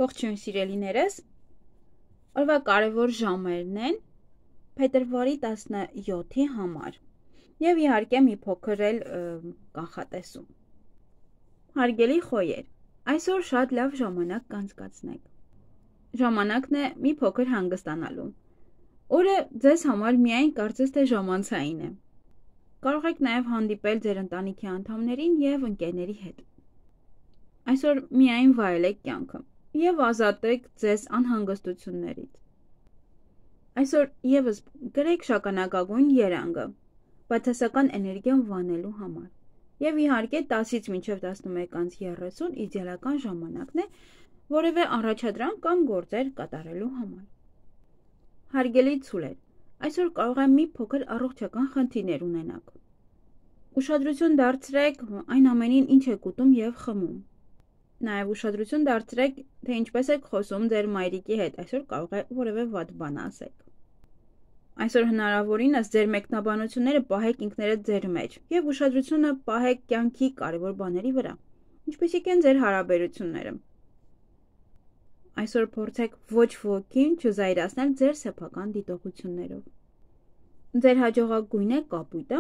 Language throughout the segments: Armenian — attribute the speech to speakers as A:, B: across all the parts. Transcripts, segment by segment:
A: Ողջույն սիրելիներս, օրվա կարևոր ժամերն են փետրվարի 17-ի համար և իհարկե մի փոքր էլ կանխատեսում։ Հարգելի խոյեր, այսօր շատ լավ ժամանակ կանցկացնեք։ Ժամանակն է մի փոքր հանգստանալու։ Օրը ձեզ համար միայն կարծես թե ժամանցային է։ Կարող եք նաև հանդիպել ձեր ընտանիքի անդամներին և ընկերների հետ։ Այսօր միայն վայելեք կյանքը և ազատեք ձեզ անհանգստություններից։ Այսօր ևս գրեք շագանակագույն երանգը, բացասական էներգիան վանելու համար։ Եվ իհարկե 10-ից մինչև 11:30 իդեալական ժամանակն է որևէ առաջադրանք կամ գործեր կատարելու համար։ Հարգելի ցուլեր, այսօր կարող է մի փոքր առողջական խնդիրներ ունենաք։ Ուշադրություն դարձրեք այն ամենին, ինչ եք ուտում և խմում։ Նաև ուշադրություն դարձրեք, թե ինչպես եք խոսում ձեր մայրիկի հետ, այսօր կարող է որևէ վատ բան ասեք։ Այսօր հնարավորինս ձեր մեկնաբանությունները պահեք ինքներդ ձեր մեջ և ուշադրությունը պահեք կյանքի կարևոր բաների վրա, ինչպիսիք են ձեր հարաբերությունները։ Այսօր փորձեք ոչ ոքին չզայրացնել ձեր սեփական դիտողություններով։ Ձեր հաջողակ գույնը կապույտը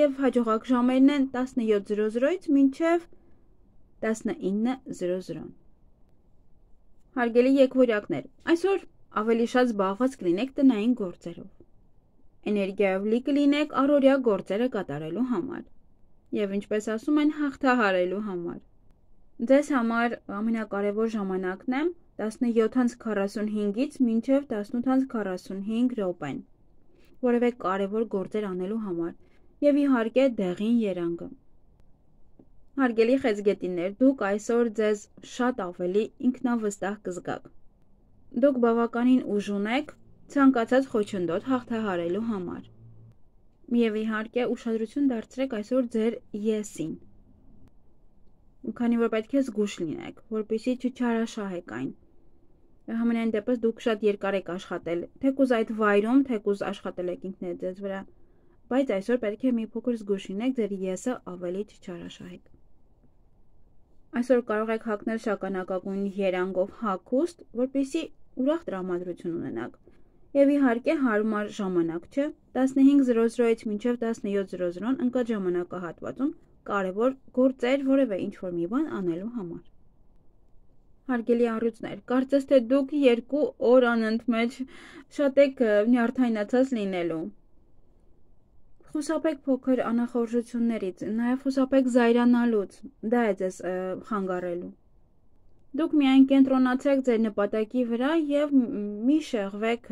A: և հաջողակ ժամերն են 17:00-ից մինչև 19:00։ Հարգելի եկվորյակներ, այսօր ավելի շատ զբաղված կլինեք տնային գործերով։ Էներգիայով լի կլինեք առօրյա գործերը կատարելու համար և ինչպես ասում են, հաղթահարելու համար։ Ձեզ համար ամենակարևոր ժամանակն է 17:45-ից մինչև 18:45 րոպեն, որևէ կարևոր գործեր անելու համար և իհարկե դեղին երանգը։ Հարգելի խեցգետիններ, դուք այսօր ձեզ շատ ավելի ինքնավստահ կզգաք։ Դուք բավականին ուժ ունեք ցանկացած խոչընդոտ հաղթահարելու համար։ Եվ իհարկե ուշադրություն դարձրեք այսօր ձեր եսին։ Քանի որ պետք է զգույշ լինեք, որպեսզի չչարաշահեք այն։ Համենայն դեպս դուք շատ երկար եք աշխատել, թեկուզ այդ վայրում, թեկուզ աշխատել եք ինքներդ ձեզ վրա, բայց այսօր պետք է մի փոքր զգույշ լինեք, ձեր եսը ավելի չչարաշահեք։ Այսօր կարող եք հագնել շագանակագույն երանգով հագուստ, որպեսզի ուրախ տրամադրություն ունենաք։ Եվ իհարկե հարմար ժամանակ չէ, 15:00-ից մինչև 17:00 ընկած ժամանակահատվածում կարևոր գործեր որևէ ինչ-որ մի բան անելու համար։ Հարգելի առյուծներ, կարծես թե դուք 2 օր անընդմեջ շատ եք նյարդայնացած լինելու։ Խուսափեք փոքր անախորժություններից, նաև խուսափեք զայրանալուց, դա է ձեզ խանգարելու։ Դուք միայն կենտրոնացեք ձեր նպատակի վրա և մի շեղվեք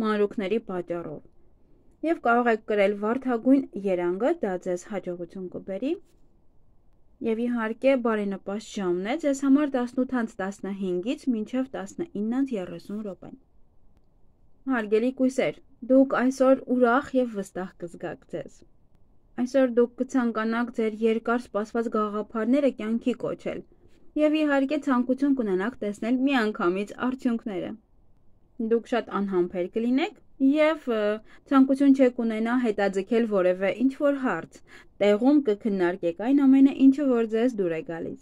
A: մանրուքների պատճառով։ Եվ կարող եք կրել վարդագույն երանգը, դա ձեզ հաջողություն կբերի։ Եվ իհարկե բարենպաստ ժամն է ձեզ համար 18:15-ից մինչև 19:30 րոպեն։ Հարգելի կույսեր, դուք այսօր ուրախ և վստահ կզգաք ձեզ։ Այսօր դուք կցանկանաք ձեր երկար սպասված գաղափարները կյանքի կոչել և իհարկե ցանկություն կունենաք տեսնել միանգամից արդյունքները։ Դուք շատ անհամբեր կլինեք և ցանկություն չեք ունենա հետաձգել որևէ ինչ-որ հարց, տեղում կքննարկեք այն ամենը, ինչը որ ձեզ դուր է գալիս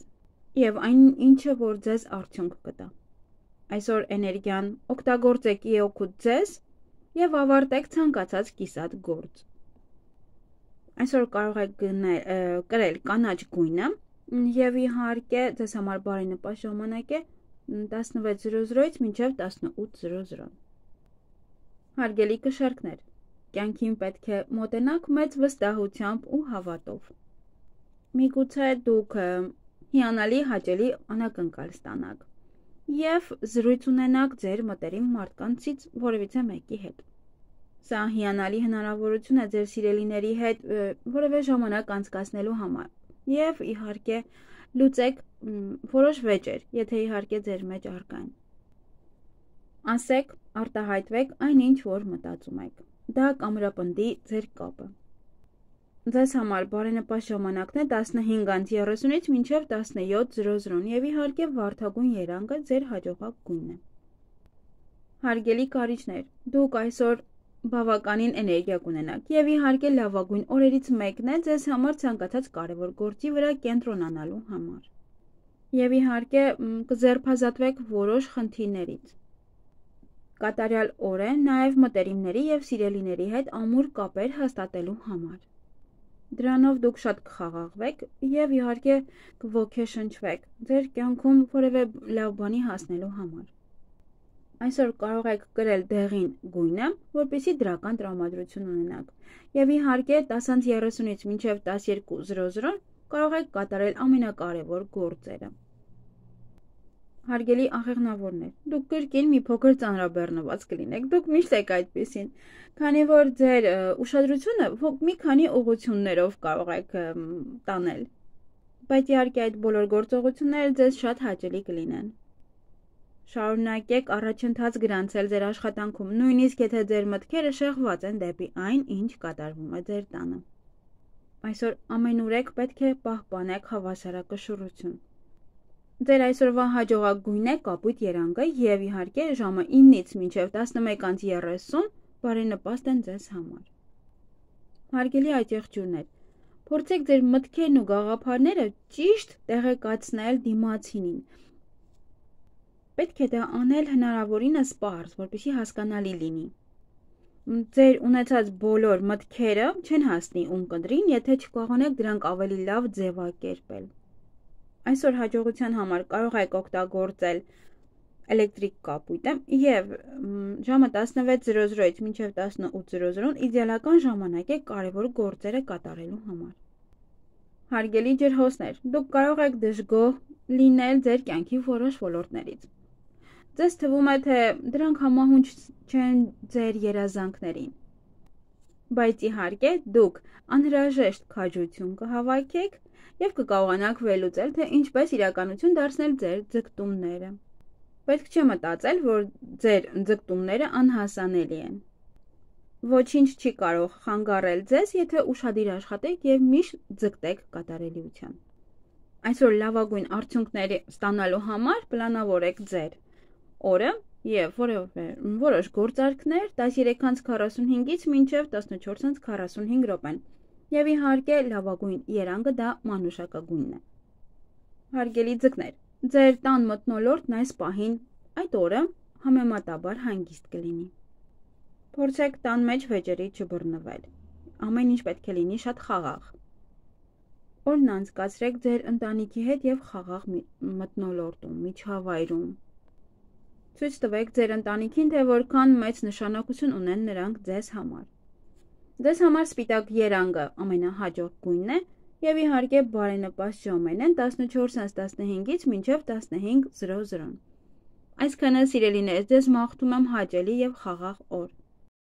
A: և այն ինչը որ ձեզ արդյունք կտա։ Այսօր էներգիան օգտագործեք ի օգուտ ձեզ և ավարտեք ցանկացած կիսատ գործ։ Այսօր կարող եք կրել կանաչ գույնը և իհարկե ձեզ համար բարենպաստ ժամանակ է 16:00-ից մինչև 18:00։ Հարգելի կշեռքներ, կյանքին պետք է մոտենաք մեծ վստահությամբ ու հավատով։ Միգուցե դուք հիանալի հաճելի անակնկալ ստանաք և զրույց ունենաք ձեր մտերիմ մարդկանցից որևիցե մեկի հետ։ Սա հիանալի հնարավորություն է ձեր սիրելիների հետ որևէ ժամանակ անցկացնելու համար և իհարկե լուծեք որոշ վեճեր, եթե իհարկե ձեր մեջ առկա են։ Ասեք, արտահայտվեք այն, ինչ որ մտածում եք։ Դա կամրապնդի ձեր կապը։ Ձեզ համար բարենպաստ ժամանակն է 15:30-ից մինչև 17:00 և իհարկե վարդագույն երանգը ձեր հաջողակ գույնն է։ Հարգելի կարիճներ, դուք այսօր բավականին էներգիա կունենաք և իհարկե լավագույն օրերից մեկն է ձեզ համար ցանկացած կարևոր գործի վրա կենտրոնանալու համար։ Եվ իհարկե կձերբազատվեք որոշ խնդիրներից։ Կատարյալ օր է նաև մտերիմների և սիրելիների հետ ամուր կապեր հաստատելու համար։ Դրանով դուք շատ կխաղաղվեք և իհարկե կոգեշնչվեք ձեր կյանքում որևէ լավ բանի հասնելու համար։ Այսօր կարող եք կրել դեղին գույնը, որպեսզի դրական տրամադրություն ունենաք, և իհարկե 10:30-ից մինչև 12:00 կարող եք կատարել ամենակարևոր գործերը։ Հարգելի աղեղնավորներ, դուք կրկին մի փոքր ծանրաբեռնված կլինեք, դուք միշտ եք այդպիսին, քանի որ ձեր ուշադրությունը մի քանի ուղղություններով կարող եք տանել, բայց իհարկե այդ բոլոր գործողությունները ձեզ շատ հաճելի կլինեն։ Շարունակեք առաջընթաց գրանցել ձեր աշխատանքում, նույնիսկ եթե ձեր մտքերը շեղված են դեպի այն, ինչ կատարվում է ձեր տանը։ Այսօր ամենուրեք պետք է պահպանեք հավասարակշռություն։ Ձեր այսօրվա հաջողակ գույնն է կապույտ երանգը և իհարկե ժամը 9-ից մինչև 11:30 բարենպաստ են ձեզ համար։ Հարգելի այծեղջյուրներ, փորձեք ձեր մտքերն ու գաղափարները ճիշտ տեղեկացնել դիմացինին։ Պետք է դա անել հնարավորինս պարզ, որպեսզի հասկանալի լինի։ Ձեր ունեցած բոլոր մտքերը չեն հասնի ունկնդրին, եթե չկարողանեք դրանք ավելի լավ ձևակերպել։ Այսօր հաջողության համար կարող եք օգտագործել էլեկտրիկ կապույտը և ժամը 16:00-ից մինչև 18:00 իդեալական ժամանակ է կարևոր գործերը կատարելու համար։ Հարգելի ջրհոսներ, դուք կարող եք դժգոհ լինել ձեր կյանքի որոշ ոլորտներից։ Ձեզ թվում է, թե դրանք համահունչ չեն ձեր երազանքներին, բայց իհարկե դուք անհրաժեշտ քաջություն կհավաքեք և կկարողանաք վերլուծել, թե ինչպես իրականություն դարձնել ձեր ձգտումները։ Պետք չէ մտածել, որ ձեր ձգտումները անհասանելի են։ Ոչինչ չի կարող խանգարել ձեզ, եթե ուշադիր աշխատեք և միշտ ձգտեք կատարելիության։ Այսօր լավագույն արդյունքներ ստանալու համար պլանավորեք ձեր օրը և որոշ գործարքներ 13:45-ից մինչև 14:45 րոպեն, և իհարկե լավագույն երանգը դա մանուշակագույնն է։ Հարգելի ձկներ, ձեր տան մթնոլորտն այս պահին այդ օրը համեմատաբար հանգիստ կլինի։ Փորձեք տան մեջ վեճերի չբռնվել, ամեն ինչ պետք է լինի շատ խաղաղ։ Օրն անցկացրեք ձեր ընտանիքի հետ և խաղաղ մթնոլորտում, միջավայրում։ Ցույց տվեք ձեր ընտանիքին, թե որքան մեծ նշանակություն ունեն նրանք ձեզ համար։ Ձեզ համար սպիտակ երանգը ամենահաջող գույնն է և իհարկե բարենպաստ ժամերն են 14:15-ից մինչև 15:00։ Այսքանը սիրելիներ, ձեզ մաղթում եմ հաճելի և խաղաղ օր։